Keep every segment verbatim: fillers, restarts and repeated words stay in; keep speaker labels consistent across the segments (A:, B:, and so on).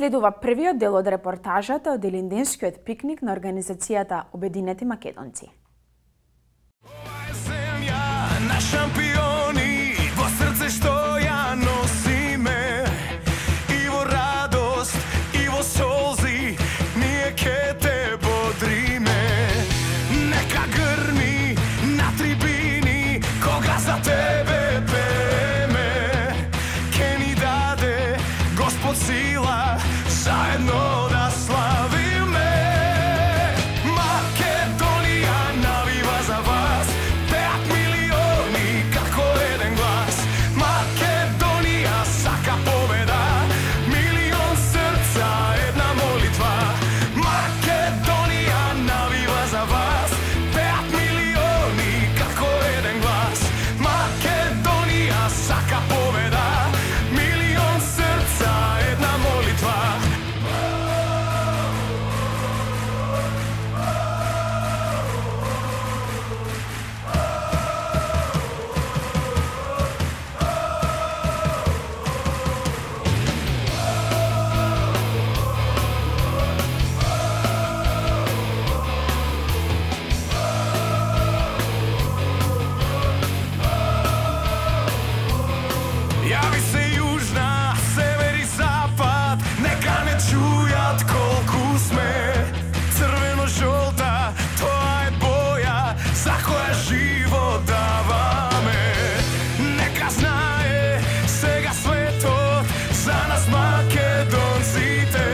A: Следува првиот дел од репортажата од Илинденскиот пикник на организацијата Обединети македонци.
B: Ова е земја на шампиони, во срце што ја носиме, и во радост, и во солзи, ние ке те бодриме. Нека грми на трибини, кога за тебе пееме, ке ни даде Господ сила, заедно да славиме. Македонија навива за вас, пеат милиони како еден глас. Македонија сака победа, милион срца, една молитва. Македонија навива за вас, пеат милиони како еден глас. Македонија сака победа, милион срца, една молитва. Јави се јужна, север и запад, нека не чујат колку сме. Црвено-жолта, тоа е боја за која живот даваме. Нека знае сега светот за нас македонците.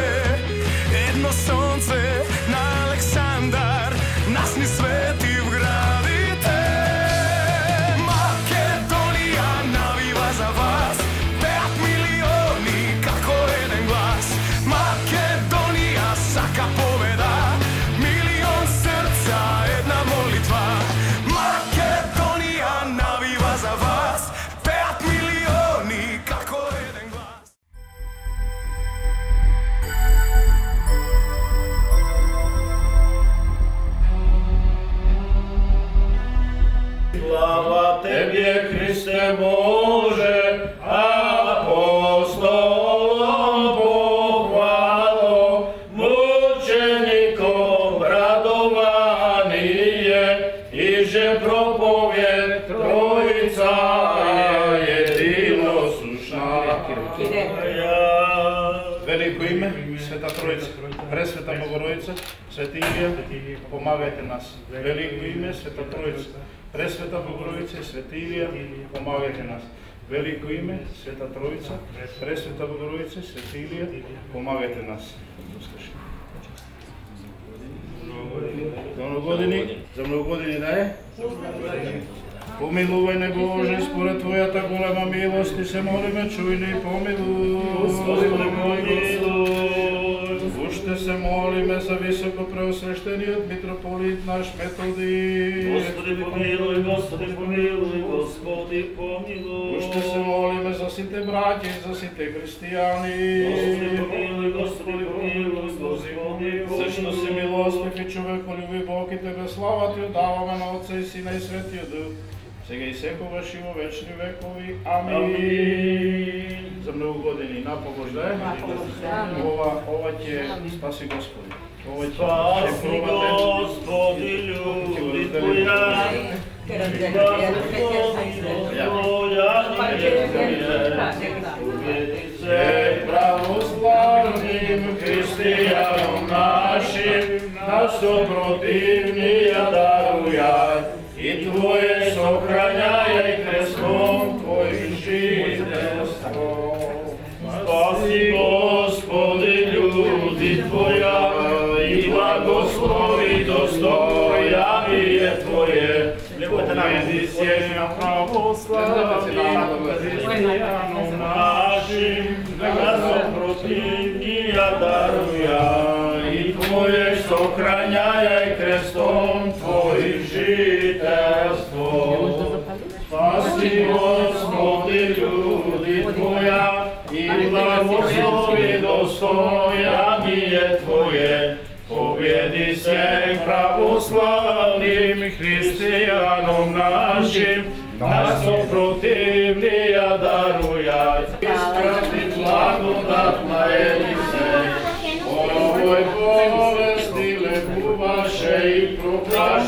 B: Едно сонце на Александар нас ни свети в градите. Македонија навива за вас, пеат милиони како еден глас. Македонија сака победа, милион срца, една молитва. Македонија навива за вас, пеат милиони како еден глас.
C: Слава Тебе, Христе Боже, апостолом похвало, мучеником радование, и же проповед Троица единосушна. Велико име, Света Троица, Пресвета Богородица, Свети Илија, помагајте нас. Велико име, Света Троица, Пресвета Богородица, Свети Илија, помагајте нас. Велико име, Света Троица, Пресвета Богородица, Свети Илија, помагајте нас. За многу години, за многу години да е. Помилувај не Боже, според Твојата голема милост, и се молиме, чуј ни и помилуј. Господи, помилуј. Уште се молиме за високо преосвещениот митрополит наш Методи.
D: Господи, помилуј, Господи, помилуј, Господи, помилуј.
C: Уште се молиме за сите браќа и за сите христијани.
D: Господи, помилуј, Господи, помилуј, Господи, помилуј.
C: Зашто си милостив и човеколюбив Бог, и Тебе слава Ти отдаваме на Отца и Сина и Светиот Дух, сега и секогаш и во вечни векови. Амин. За многу години напогош да е. Ова, ова ќе спаси Господи. Ова ќе
D: Спаси Господи, люди Твоја,
C: се православним христијаном нашим, нас сопротивнија дарујај, и Твое сохраняј крестом Твој жителство. Спаси Господи, люди Твоја, и благослови достојание Твое. Победи се на православним христијаном нашим, нас сопротивнија дарујај, и Твое сохраняј крестом Твој жителство. Спаси Господи, люди Твоја, и благослови достојание Твое. Победи се православним христијаном нашим, нас сопротивнија дарујај. Испрати благодат на Елисеј,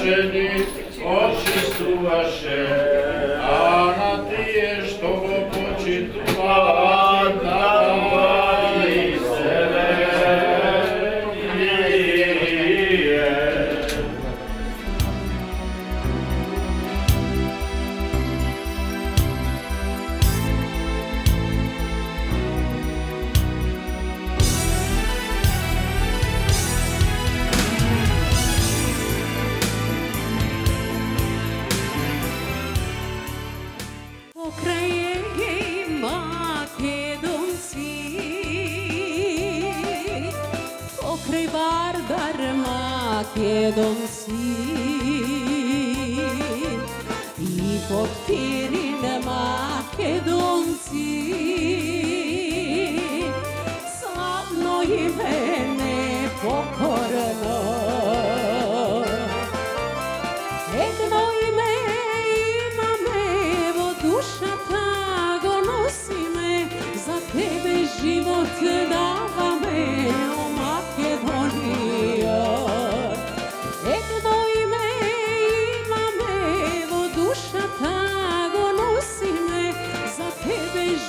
C: блажени очистуваше, а на тие што го почитуваат напали себе.
E: Македонци и подпирine Македонци славно име непокорено едно име имаме во душата го носиме за тебе живот даваме о Македонија.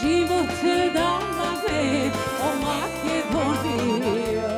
E: Живот даваме о Македонија.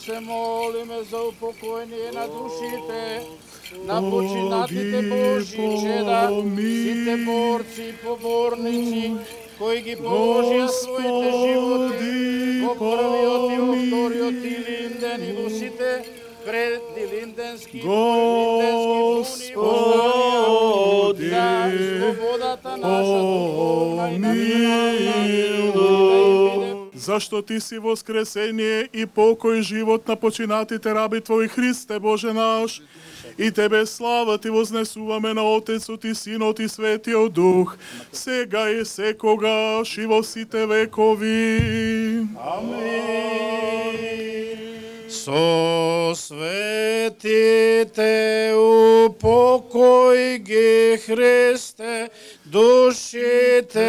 C: се молиме за упокоение на душите, на починатите Божи чеда, сите борци и поборници, кои ги положија своите животи во првиот и во вториот Илинден и во сите предилинденски и поилинденски буни за слободата наша духовна и национална.
F: Зашто ти си воскресение и покој живот на починатите раби Твои, Христе Боже наш, и Тебе слава Ти вознесуваме на Отецот и Синот и Светиот Дух, сега и секогаш и во сите векови.
C: Амин. Со светите упокој ги, Христе, душите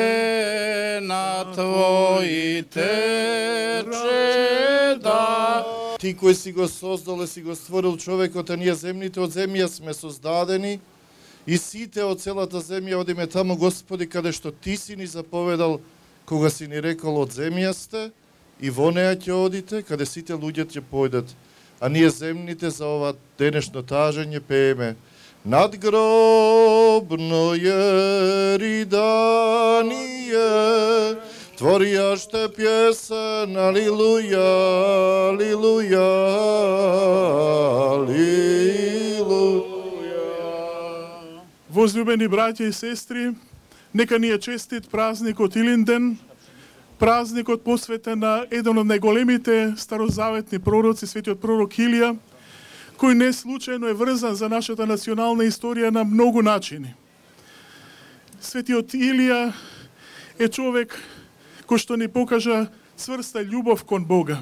C: на Твоите чеда.
G: Ти кој си го создал и си го створил човекот, а ние земните од земја сме создадени, и сите од целата земја одиме таму, Господи, каде што Ти си ни заповедал, кога си ни рекол од земја сте, и во неа ќе одите, каде сите луѓе ќе појдат. А ние земните за ова денешно тажење пееме надгробное ридание, творијаште пјесен, алилуја, алилуја, алилуја.
F: Возлюбени браќа и сестри, нека ни е честит празникот Илинден, празникот посветен на еден од најголемите старозаветни пророци, светиот пророк Илија, кој не случајно е врзан за нашата национална историја на многу начини. Светиот Илија е човек кој што ни покажа цврста љубов кон Бога.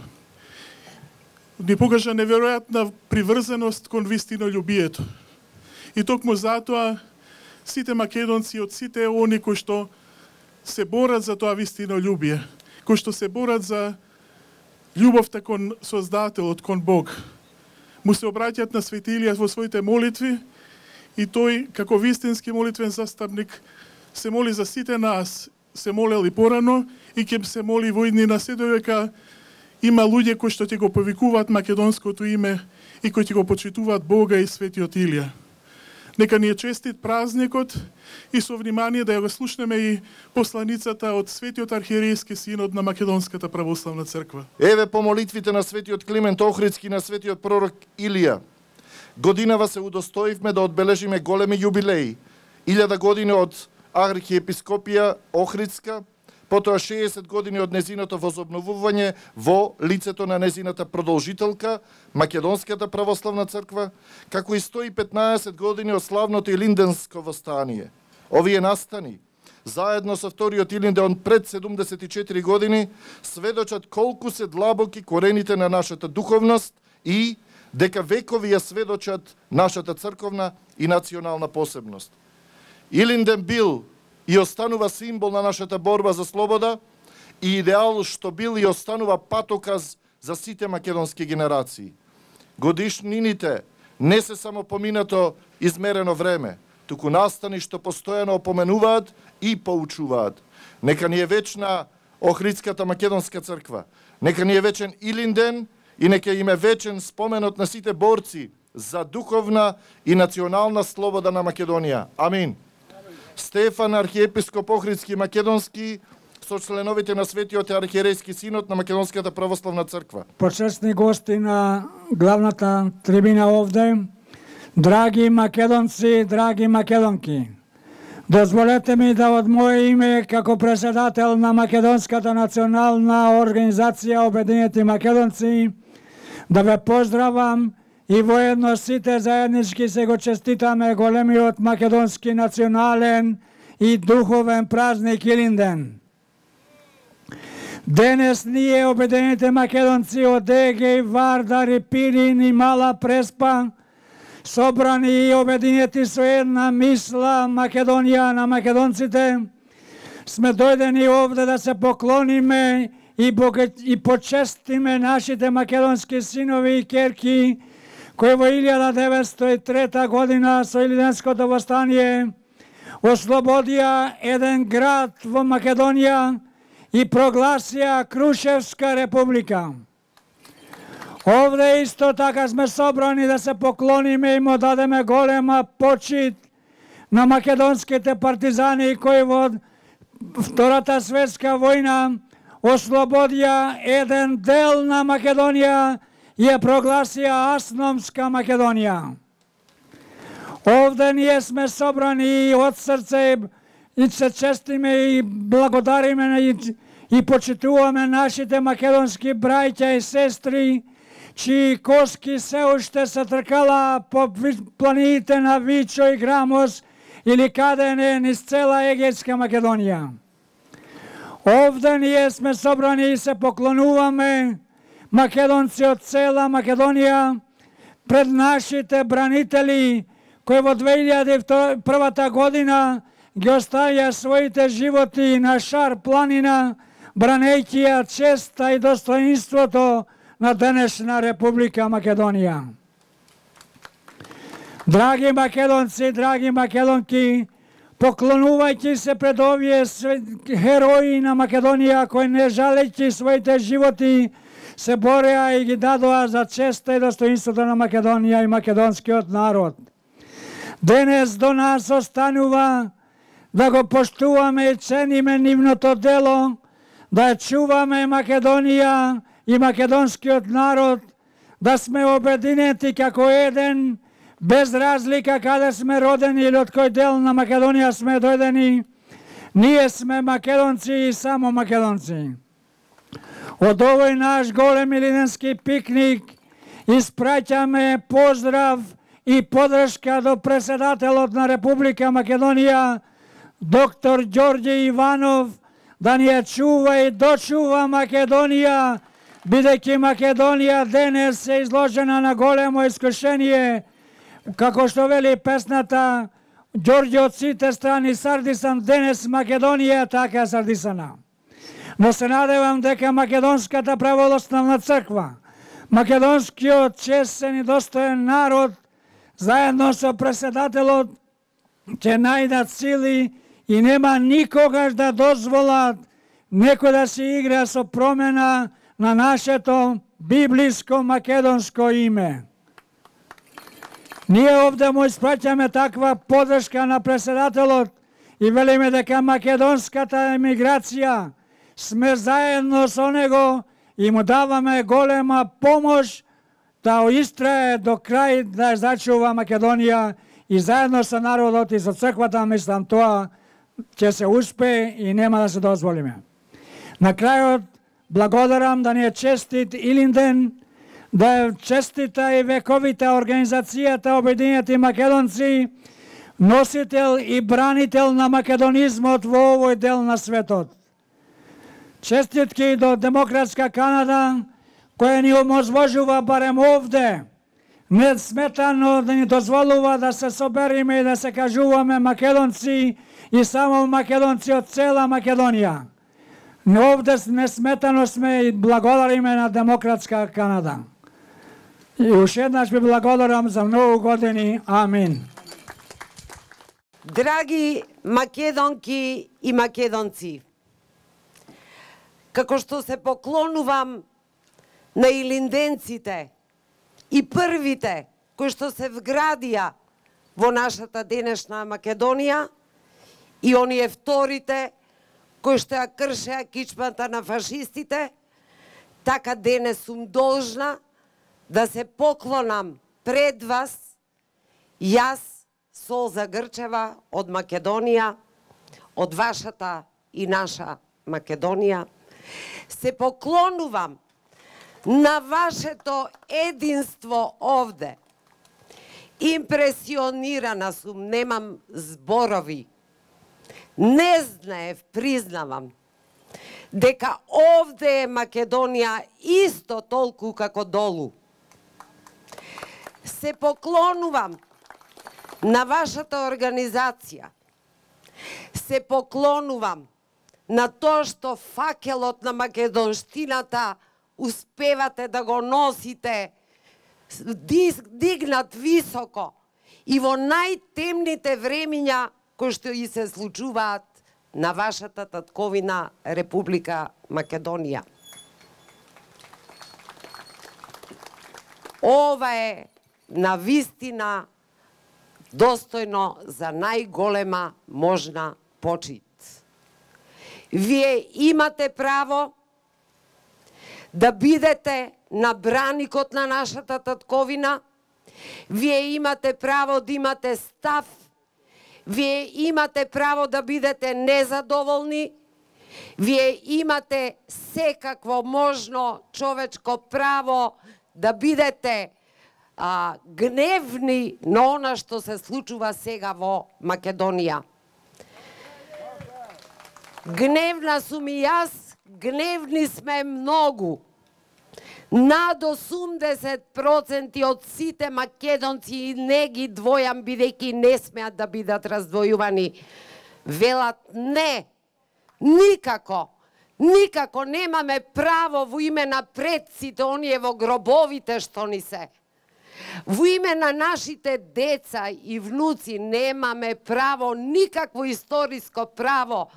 F: Ни покажа неверојатна приврзаност кон вистинолюбието. И токму затоа сите македонци, од сите они кои што се борат за тоа вистинолюбие, кои што се борат за љубовта кон Создателот, кон Бог, му се обраќаат на Свети Илија во своите молитви, и тој, како вистински молитвен застапник, се моли за сите нас, се молел и порано, и ќе се моли во иднина, се додека има луѓе кои што ќе го повикуваат македонското име и кои ќе го почитуваат Бога и Светиот Илија. Нека ни е честит празникот, и со внимание да ја го слушнеме и посланицата од Светиот архиерејски синод на Македонската православна црква.
G: Еве по молитвите на Светиот Климент Охридски, на Светиот пророк Илија. Годинава се удостоивме да одбележиме големи јубилеи. илјада години од архиепископија Охридска, потоа шеесет години од незиното возобновување во лицето на незината продолжителка, Македонската православна црква, како и сто и петнаесет години од славното Илинденско востание. Овие настани, заедно со вториот Илинден пред седумдесет и четири години, сведочат колку се длабоки корените на нашата духовност и дека векови ја сведочат нашата црковна и национална посебност. Илинден бил и останува символ на нашата борба за слобода и идеал што бил и останува патоказ за сите македонски генерации. Годишнините не се само поминато измерено време, туку настани што постојано опоменуваат и поучуваат. Нека ни е вечна Охридската македонска црква, нека ни е вечен Илинден и нека им е вечен споменот на сите борци за духовна и национална слобода на Македонија. Амин. Стефан, архиепископ Охридски македонски, со членовите на Светиот архиерејски синод на Македонската православна црква.
H: Почесни гости на главната трибина овде, драги македонци, драги македонки, дозволете ми да од моје име како председател на Македонската национална организација Обединети македонци да ве поздравам и воедно сите заеднички се го честитаме големиот македонски национален и духовен празник Илинден. Денес ние, Обединените македонци од Егеј, Вардар и Пирин и Мала Преспа, собрани и обединети со една мисла Македонија на македонците, сме дојдени овде да се поклониме и, и почестиме нашите македонски синови и керки, кои во илјада деветсто и трета година со Илинденското востание ослободија еден град во Македонија и прогласија Крушевска република. Овде исто така сме собрани да се поклониме и му дадеме голема почит на македонските партизани кои во Втората светска војна ослободија еден дел на Македонија и ја прогласија Асномска Македонија. Овде ние сме собрани и од срце и се честиме и благодариме и, и почитуваме нашите македонски браќа и сестри, чии коски се уште се тркала по планините на Вичо и Грамос или каде не низ цела Егејска Македонија. Овде ние сме собрани и се поклонуваме македонци од цела Македонија пред нашите бранители кои во две илјади и првата година ги оставија своите животи на Шар планина, бранејќи ја честа и достоинството на денешна Република Македонија. Драги македонци, драги македонки, поклонувајќи се пред овие херои на Македонија кои не жалејќи своите животи се бореа и ги дадоа за честа и достоинството на Македонија и македонскиот народ. Денес до нас останува да го поштуваме и цениме нивното дело, да ја чуваме Македонија и македонскиот народ, да сме обединети како еден, без разлика каде сме родени или од кој дел на Македонија сме дојдени. Ние сме македонци и само македонци. Од овој наш голем илинденски пикник испраќаме поздрав и подршка до председателот на Република Македонија, доктор Ѓорѓе Иванов, да ни ја чува и дочува Македонија, бидејќи Македонија денес е изложена на големо искушение, како што вели песната Ѓорѓе од сите страни сардисан, денес Македонија така сардисана. Но се надевам дека Македонската православна црква, македонскиот честен и достоен народ, заедно со председателот, ќе најдат сили и нема никогаш да дозволат некој да се игра со промена на нашето библиско македонско име. Ние овде му испраќаме таква подршка на председателот и велиме дека македонската емиграција сме заедно со него и му даваме голема помош да истрае до крај да ја зачува Македонија и заедно со народот и со црквата, мислам, тоа ќе се успее и нема да се дозволиме. На крајот, благодарам да ни е честит Илинден, да е честита и вековита организацијата Обединети македонци, носител и бранител на македонизмот во овој дел на светот. Честитки до Демократска Канада, која ни оможможува барем овде, несметано да ни дозволува да се собериме и да се кажуваме македонци и само македонци од цела Македонија. Но овде несметано сме и благодариме на Демократска Канада. И уште еднаш ви благодарам за многу години. Амин.
I: Драги македонки и македонци, како што се поклонувам на илинденците и првите кои што се вградија во нашата денешна Македонија и оние вторите кои што ја кршеа кичмата на фашистите, така денес сум должна да се поклонам пред вас, јас, Солза Грчева од Македонија, од вашата и наша Македонија, се поклонувам на вашето единство овде. Импресионирана сум, немам зборови. Не знаев, признавам, дека овде е Македонија исто толку како долу. Се поклонувам на вашата организација. Се поклонувам на тоа што факелот на македонштината успевате да го носите дигнат високо и во најтемните времиња кои што и се случуваат на вашата татковина Република Македонија. Ова е навистина достојно за најголема можна почит. Вие имате право да бидете на браникот на нашата татковина, вие имате право да имате став, вие имате право да бидете незадоволни, вие имате секакво можно човечко право да бидете а, гневни на она што се случува сега во Македонија. Гневна сум и јас, гневни сме многу. Над осумдесет проценти од сите македонци и не ги двојам, бидејќи не смеат да бидат раздвојувани, велат не, никако, никако немаме право во име на предците, оние во гробовите што ни се. Во име на нашите деца и внуци немаме право, никакво историско право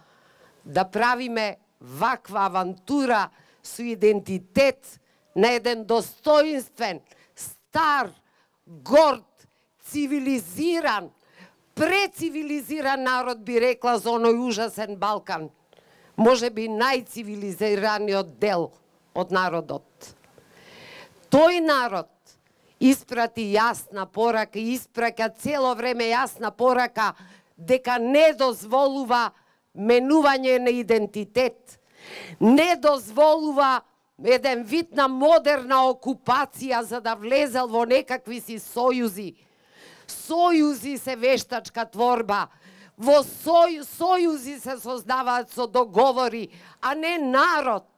I: да правиме ваква авантура со идентитет на еден достоинствен, стар, горд, цивилизиран, прецивилизиран народ, би рекла за оној ужасен Балкан. Може би најцивилизираниот дел од народот. Тој народ испрати јасна порака, испраќа цело време јасна порака дека не дозволува менување на идентитет, не дозволува еден вид на модерна окупација за да влезел во некакви си сојузи. Сојузи се вештачка творба, во сој, сојузи се создаваат со договори, а не народ.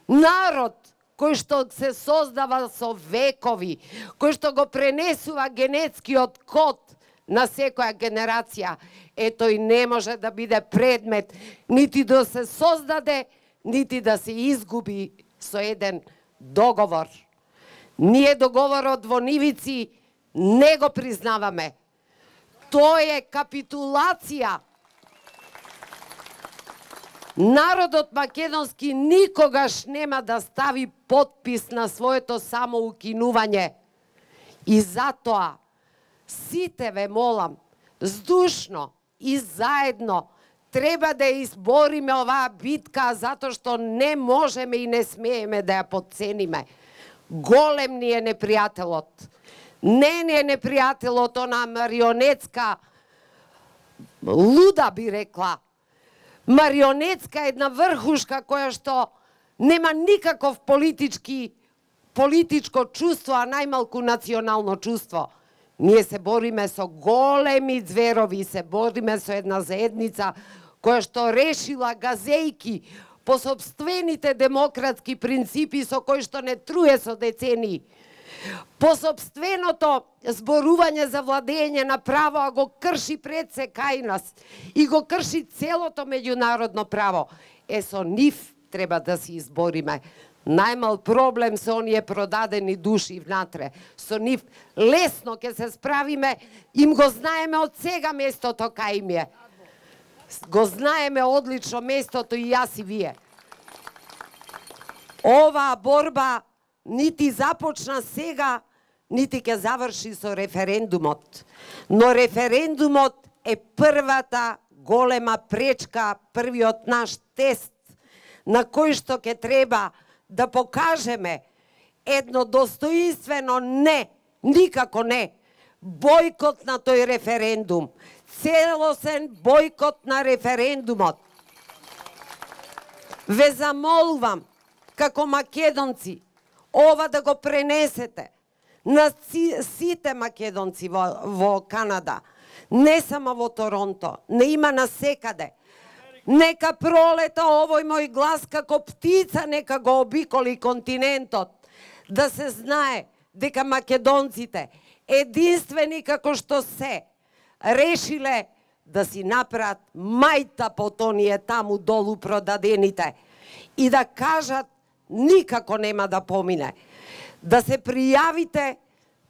I: Народ кој што се создава со векови, кој што го пренесува генетскиот код на секоја генерација, е тој не може да биде предмет нити да се создаде, нити да се изгуби со еден договор. Ние договорот во Нивици не го признаваме. Тој е капитулација. Народот македонски никогаш нема да стави подпис на своето самоукинување. И затоа сите ве молам, здушно и заедно треба да избориме оваа битка, затоа што не можеме и не смееме да ја подцениме. Голем ни е непријателот. Не ни е непријателот она марионетска, луда би рекла, марионетска една врхушка која што нема никаков политички, политичко чувство, а најмалку национално чувство. Ние се бориме со големи зверови, се бориме со една заедница која што решила газејки по собствените демократски принципи со кои што не труе со децении. По собственото зборување за владење на право, а го крши пред се кај нас и го крши целото меѓународно право. Е, со нив треба да се избориме. Најмал проблем се оние продадени души внатре. Со нив лесно ќе се справиме, им го знаеме од сега местото кај им е. Го знаеме одлично местото и јас и вие. Оваа борба нити започна сега, нити ќе заврши со референдумот. Но референдумот е првата голема пречка, првиот наш тест на кој што ќе треба да покажеме едно достоинствено не, никако не, бојкот на тој референдум, целосен бојкот на референдумот. Ве замолувам, како македонци, ова да го пренесете на сите македонци во, во Канада, не само во Торонто, не има насекаде. Нека пролета овој мој глас како птица, нека го обиколи континентот, да се знае дека македонците, единствени како што се, решиле да си направат мајта по тоние таму долу продадените и да кажат никако нема да помине. Да се пријавите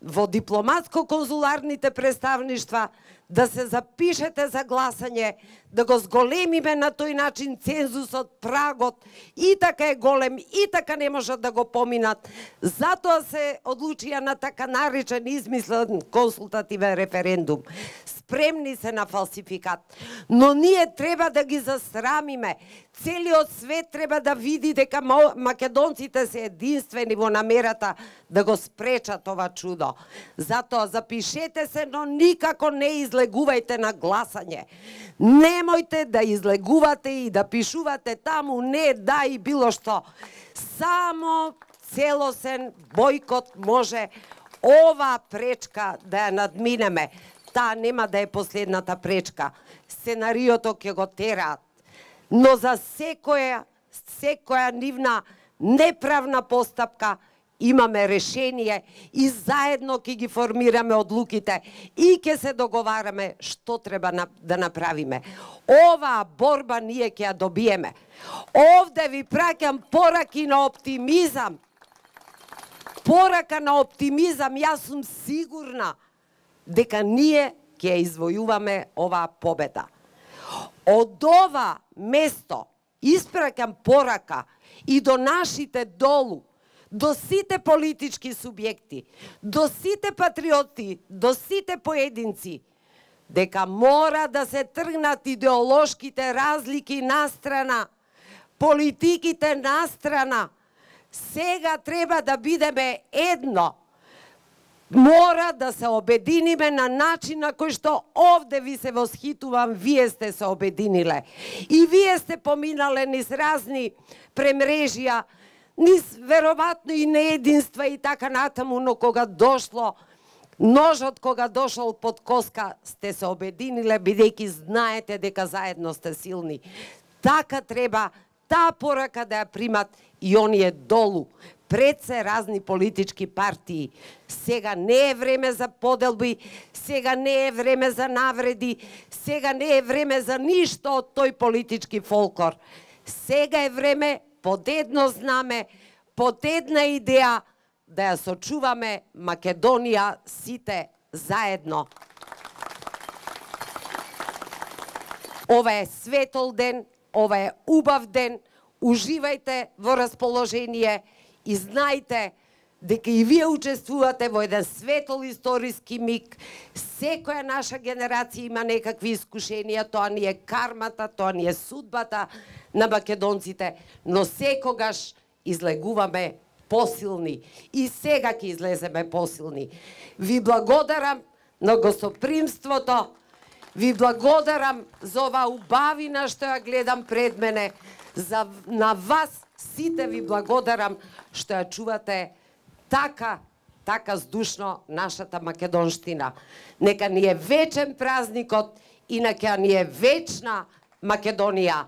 I: во дипломатско-конзуларните представништва, да се запишете за гласање, да го зголемиме на тој начин цензусот, прагот, и така е голем, и така не можат да го поминат. Затоа се одлучија на така наречен измислен консултативен референдум. Спремни се на фалсификат. Но ние треба да ги засрамиме. Целиот свет треба да види дека македонците се единствени во намерата да го спречат ова чудо. Затоа запишете се, но никако не излегувајте на гласање. Немојте да излегувате и да пишувате таму не, да и било што. Само целосен бојкот може ова пречка да ја надминеме. Таа нема да е последната пречка. Сценариото ќе го тераат. Но за секоја, секоја нивна неправна постапка имаме решение и заедно ќе ги формираме одлуките и ќе се договараме што треба да направиме. Оваа борба ние ќе ја добиеме. Овде ви праќам пораки на оптимизам. Порака на оптимизам, јас сум сигурна дека ние ќе ја извојуваме оваа победа. Од ова место испраќам порака и до нашите долу, до сите политички субјекти, до сите патриоти, до сите поединци, дека мора да се тргнат идеолошките разлики настрана, политиките настрана. Сега треба да бидеме едно. Мора да се обединиме на начин на кој што овде ви се восхитувам, вие сте се обединиле. И вие сте поминале низ разни премрежија, низ веројатно и неединства и така натаму, но кога дошло, ножот кога дошол под коска, сте се обединиле, бидејќи знаете дека заедно сте силни. Така треба таа порака да ја примат и оние долу, пред се разни политички партии. Сега не е време за поделби, сега не е време за навреди, сега не е време за ништо од тој политички фолклор. Сега е време под едно знаме, под една идеја да ја сочуваме Македонија сите заедно. Ова е светол ден, ова е убав ден, уживајте во расположение и знајте дека и вие учествувате во еден светол историски миг. Секоја наша генерација има некакви искушенија, тоа ни е кармата, тоа ни е судбата на македонците, но секогаш излегуваме посилни и сега ќе излеземе посилни. Ви благодарам на гостопримството, ви благодарам за оваа убавина што ја гледам пред мене, за на вас сите ви благодарам што ја чувате така, така здушно нашата македонштина. Нека ни е вечен празникот и нека ни е вечна Македонија.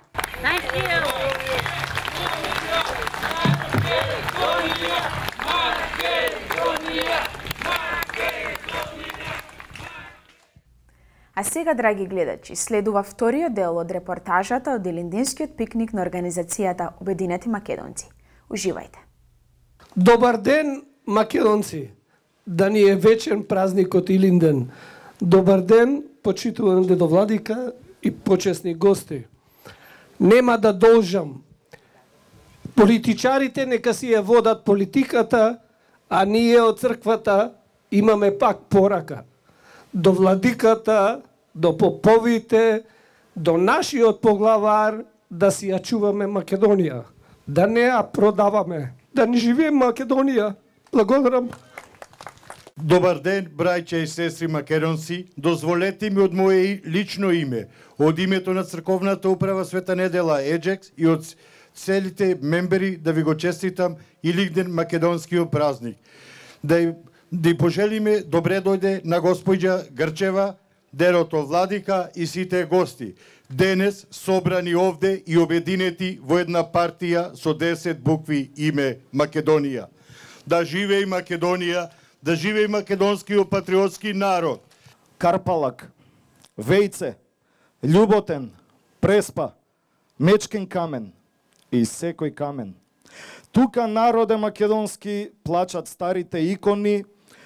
A: А сега, драги гледачи, следува вториот дел од репортажата од Илиндинскиот пикник на организацијата Обединети македонци. Уживајте.
J: Добар ден, македонци! Да ни е вечен празникот Илинден. Добар ден, почитуван дедо Владика и почесни гости. Нема да должам. Политичарите нека си ја водат политиката, а ние од црквата имаме пак порака. До владиката, до поповите, до нашиот поглавар да си ја чуваме Македонија. Да не ја продаваме. Да не живеем Македонија. Благодарам.
K: Добар ден, браќа и сестри македонци. Дозволете ми од моje лично име, од името на Црковната управа Света недела Еджекс и од целите мембери да ви го честитам Илинден македонскиот празник. Да да и пожелиме добре дојде на господја Грчева, дедото Владика и сите гости. Денес собрани овде и обединети во една партија со десет букви име Македонија. Да живее Македонија, да живее македонскиот патриотски народ.
G: Карпалак, Вејце, Љуботен, Преспа, Мечкин камен и секој камен. Тука народе македонски плачат старите икони,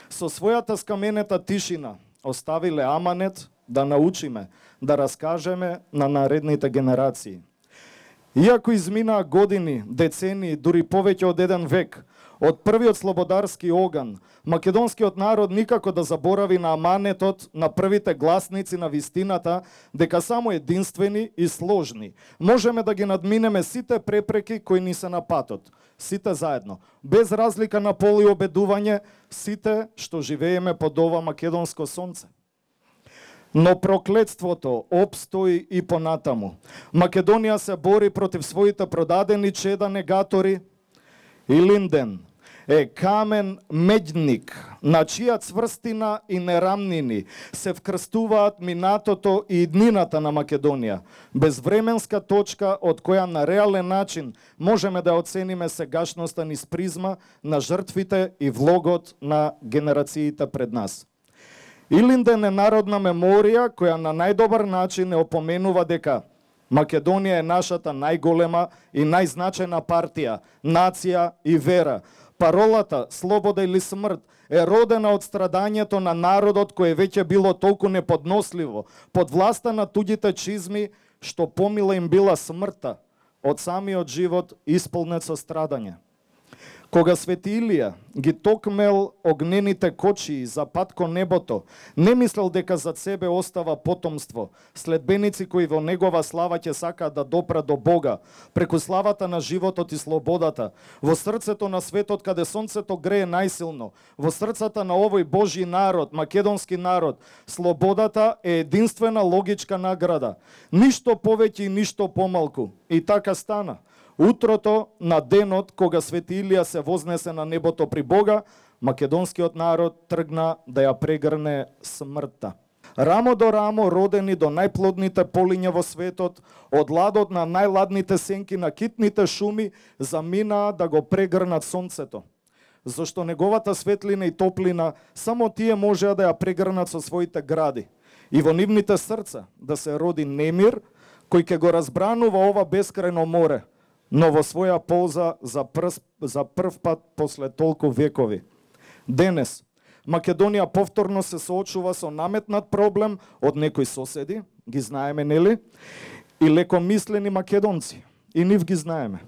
G: со својата скаменета тишина оставиле аманет да научиме, да раскажеме на наредните генерации. Иако изминаа години, децении, дури повеќе од еден век, од првиот слободарски оган, македонскиот народ никако да заборави на аманетот на првите гласници на вистината, дека само единствени и сложни можеме да ги надминеме сите препреки кои ни се на патот. Сите заедно, без разлика на пол и обедување, сите што живееме под ова македонско сонце. Но проклетството обстои и понатаму. Македонија се бори против своите продадени чеда негатори. Илинден, е камен меѓник, на чија цврстина и нерамнини се вкрстуваат минатото и иднината на Македонија, безвременска точка од која на реален начин можеме да оцениме сегашноста низ призма на жртвите и влогот на генерациите пред нас. Илинден е народна меморија која на најдобар начин не опоменува дека Македонија е нашата најголема и најзначајна партија, нација и вера. Паролата «Слобода или смрт» е родена од страдањето на народот кој веќе било толку неподносливо, под власта на туѓите чизми, што помила им била смртта од самиот живот исполнет со страдање. Кога Свети Илија ги токмел огнените кочии за пат кон небото, не мислел дека зад себе остава потомство, следбеници кои во негова слава ќе сакаат да допрат до Бога, преку славата на животот и слободата, во срцето на светот каде сонцето грее најсилно, во срцата на овој Божји народ, македонски народ, слободата е единствена логичка награда. Ништо повеќе и ништо помалку. И така стана. Утрото на денот кога Свети Илија се вознесе на небото при Бога, македонскиот народ тргна да ја прегрне смртта. Рамо до рамо родени до најплодните полиња во светот, од ладот на најладните сенки на китните шуми, заминаа да го прегрнат сонцето. Зашто неговата светлина и топлина само тие можеа да ја прегрнат со своите гради. И во нивните срца да се роди немир, кој ќе го разбранува ова бескрајно море, но во своја полза за, прс, за прв пат после толку векови. Денес, Македонија повторно се соочува со наметнат проблем од некои соседи, ги знаеме, нели? И лекомислени македонци, и нив ги знаеме.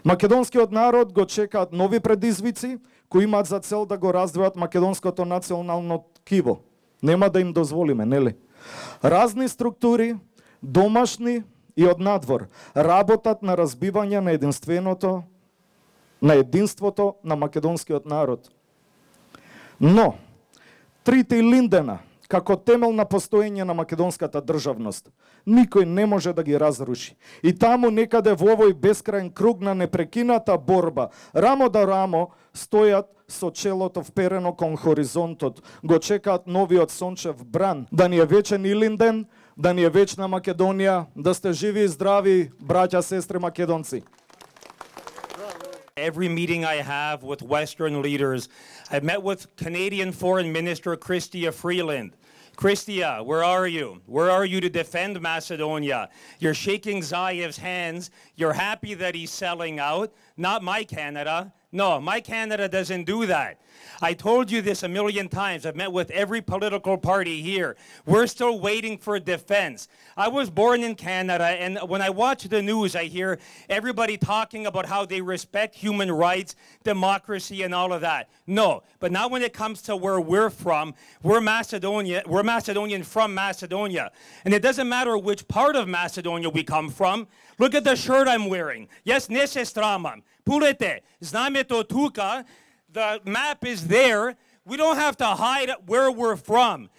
G: Македонскиот народ го чекаат нови предизвици, кои имаат за цел да го раздвојат македонското национално ткиво. Нема да им дозволиме, нели? Разни структури, домашни и од надвор, работат на разбивање на единственото, на единството на македонскиот народ. Но, трите линдена, како темел на постоење на македонската државност, никој не може да ги разруши. И таму некаде во овој бескрајен круг на непрекината борба, рамо да рамо, стојат со челото вперено кон хоризонтот, го чекаат новиот сончев бран, да ни е вечен Илинден, да ни е вечна Македонија, да сте живи и здрави, браќа, сестри македонци.
L: Every meeting I have with Western leaders, I've met with Canadian Foreign Minister Chrystia Freeland. Chrystia, where are you? Where are you to defend Macedonia? You're shaking Zaev's hands. You're happy that he's selling out. Not my Canada. No, my Canada doesn't do that. I told you this a million times. I've met with every political party here. We're still waiting for defense. I was born in Canada, and when I watch the news, I hear everybody talking about how they respect human rights, democracy, and all of that. No, but now when it comes to where we're from, we're Macedonia, we're Macedonian from Macedonia. And it doesn't matter which part of Macedonia we come from. Look at the shirt I'm wearing. Yes, не се страмам. Pulete, znamето tuka, the map is there. We don't have to hide where we're from.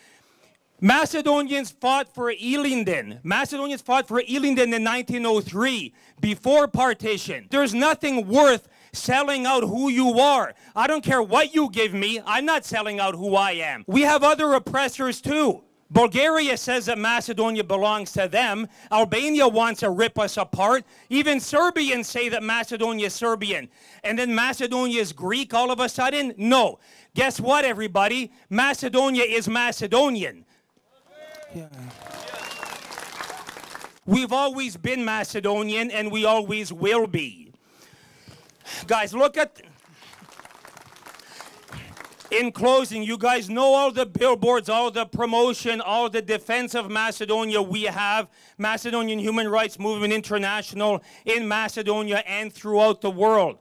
L: Macedonians fought for Ilinden. Macedonians fought for Ilinden in nineteen oh three, before partition. There's nothing worth selling out who you are. I don't care what you give me, I'm not selling out who I am. We have other oppressors too. Bulgaria says that Macedonia belongs to them. Albania wants to rip us apart. Even Serbians say that Macedonia is Serbian. And then Macedonia is Greek all of a sudden? No. Guess what, everybody? Macedonia is Macedonian. Yeah. We've always been Macedonian, and we always will be. Guys, look at... In closing, you guys know all the billboards, all the promotion, all the defense of Macedonia we have. Macedonian Human Rights Movement International in Macedonia and throughout the world.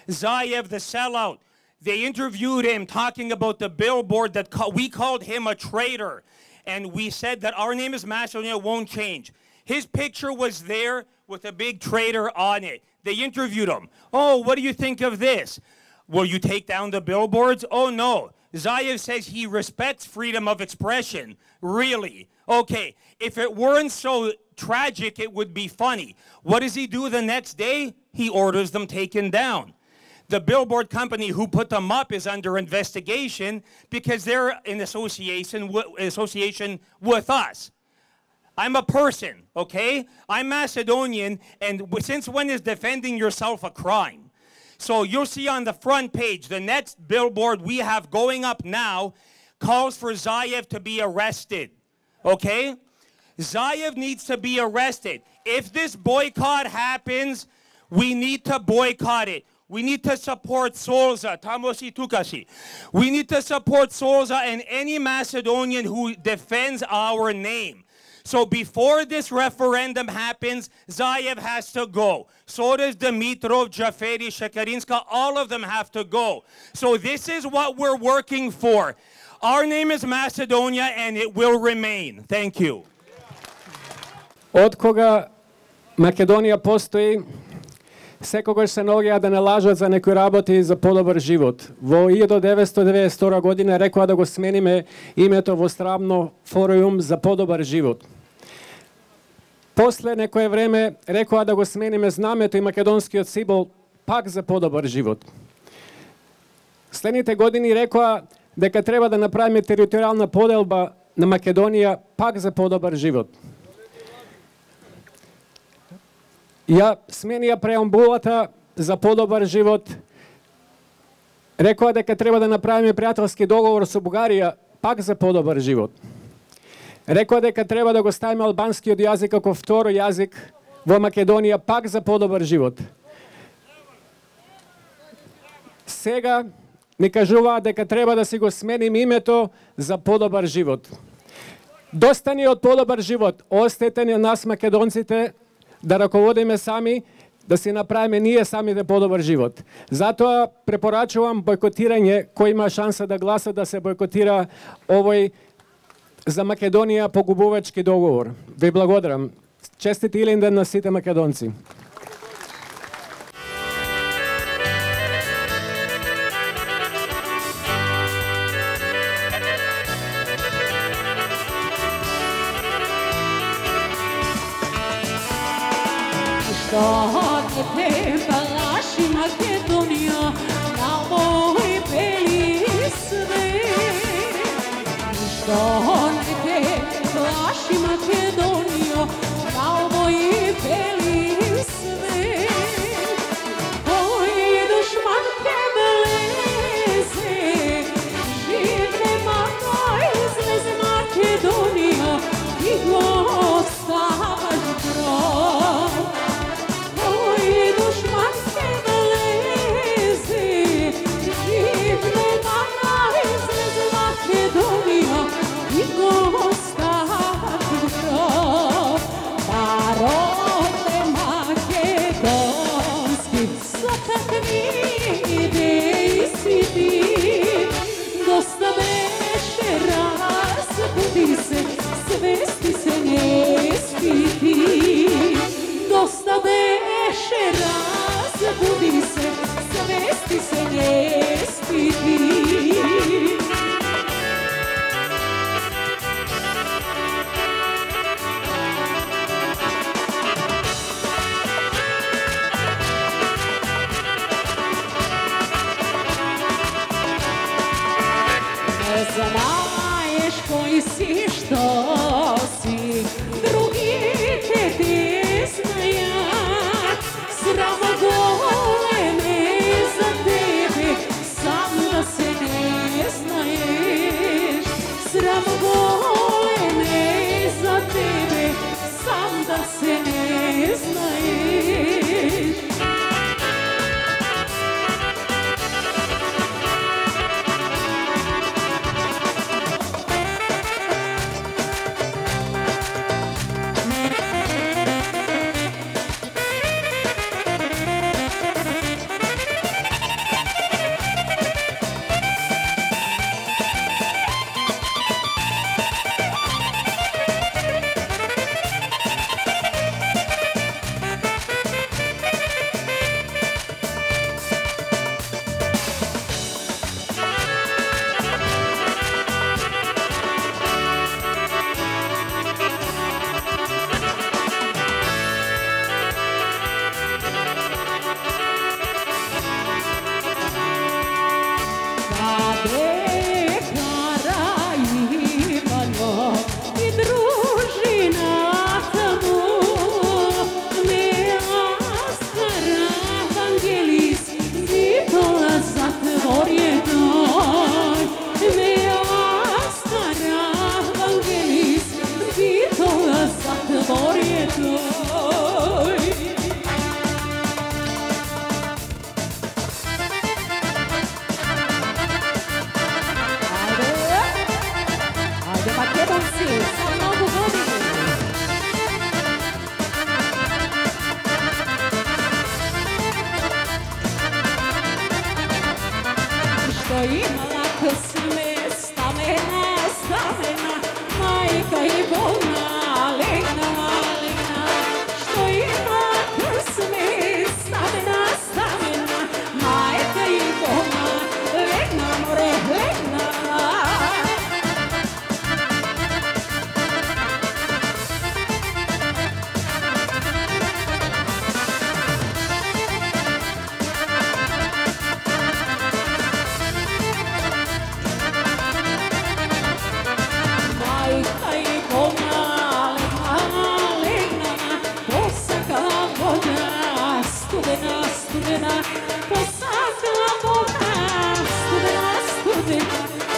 L: Zaev, the sellout, they interviewed him talking about the billboard that ca- we called him a traitor. And we said that our name is Macedonia, won't change. His picture was there with a big traitor on it. They interviewed him. Oh, what do you think of this? Will you take down the billboards? Oh, no. Zaev says he respects freedom of expression. Really? Okay, if it weren't so tragic, it would be funny. What does he do the next day? He orders them taken down. The billboard company who put them up is under investigation because they're in association with, association with us. I'm a person, okay? I'm Macedonian, and since when is defending yourself a crime? So you'll see on the front page, the next billboard we have going up now calls for Zaev to be arrested, okay? Zaev needs to be arrested. If this boycott happens, we need to boycott it. We need to support Solza, Tamosi Tukasi. We need to support Solza and any Macedonian who defends our name. So before this referendum happens, Zaev has to go. So does Dimitrov, Jaferi, Shekarinska, all of them have to go. So this is what we're working for. Our name is Macedonia and it will remain. Thank you.
M: Од кога Македонија постои, секогаш се наоѓаат да не лажат за некои работи за подобар живот. Во илјада деветстотини деветдесет и втора година рекоа да го смениме името во Страмно форум за подобар живот. После некое време рекоа да го смениме знамето и македонскиот символ пак за подобар живот. Следните години рекоа дека треба да направиме територијална поделба на Македонија пак за подобар живот. Ја сменија преамбулата за подобар живот. Рекоа дека треба да направиме пријателски договор со Бугарија пак за подобар живот. Рекоа дека треба да го ставиме албанскиот јазик како второ јазик во Македонија пак за подобар живот. Сега ни кажуваат дека треба да си го смениме името за подобар живот. Доста ни од подобар живот. Остете на нас македонците да раководиме сами, да си направиме ние самите подобар живот. Затоа препорачувам бойкотирање, кој има шанса да гласа да се бойкотира овој за Македонија погубувачки договор. Ви благодарам. Честит Илинден на сите македонци.
E: Što ne treba laši Makedonija na moj beli svet. Što ne treba laši Makedonija na moj beli svet. Koji dušman te leze, živne maka izleze Makedonija i ostavaš grob. Svesti se ne stidi, dosta beše razbudi se, svesti se ne stidi. Ne znaješ koji si, što si, drugi te te znajat. Sramo goleme za tebe, sam da se ne znaješ. Sramo goleme za tebe, sam da se ne znaješ. си за многу години. Што имала късме, стамена, стамена, мајка и болна, легна, легна. Што има късме, стамена, стамена, мајка и болна, легна, море, легна.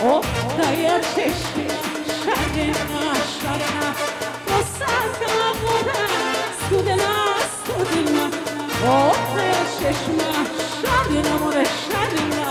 E: Ottaja češnja, šarena, šarena, posakala voda, studena, studena. Ottaja češnja, šarena, more, šarena.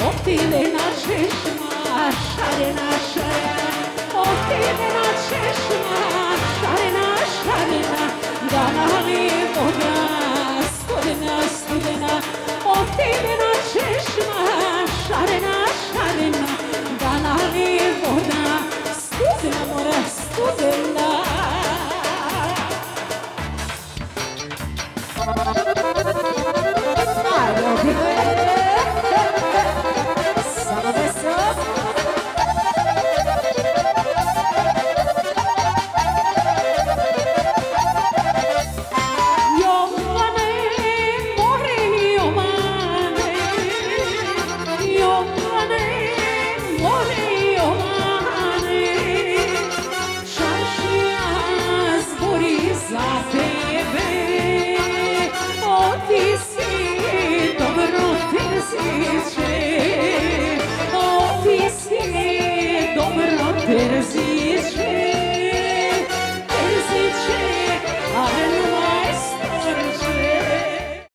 E: Otilena češnja, šarena, šarena, otilena češnja, šarena, šarena, da nali voda, studena, studena, otilena češnja, šarena,